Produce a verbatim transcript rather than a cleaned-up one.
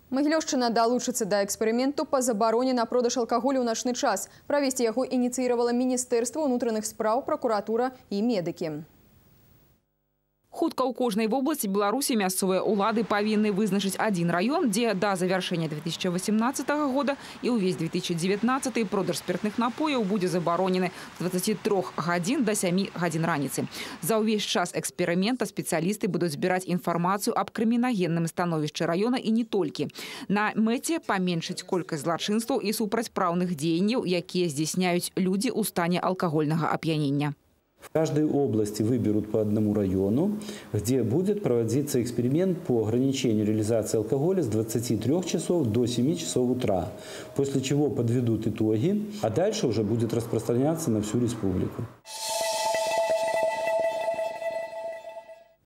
Магілёўшчына далучыцца да эксперыменту па забароне на продаж алкаголю ў начны час. Правесці яго ініцыіравала Міністэрства ўнутраных спраў, пракуратура і медыкі. Хутка ў кожнай вобласці Беларусі мясцовыя ўлады павінны вызначыць адзін раён, дзе да завяршэння две тысячи восемнадцатого года і ўвесь две тысячи девятнадцатый продаж спиртных напояў будзе забаронены з двадцати трёх гадзін да сямі гадзін раніцы. За ўвесь час эксперымента спецыялісты будуць збіраць інфармацыю аб крымінагенным становішчы раёна і не толькі. На мэце паменшыць колькасць злачынстваў і супрацьпраўных дзеянняў, якія здзяйсняюць людзі ў стане алкагольнага ап'янення. В каждой области выберут по одному району, где будет проводиться эксперимент по ограничению реализации алкоголя с двадцати трёх часов до семи часов утра, после чего подведут итоги, а дальше уже будет распространяться на всю республику.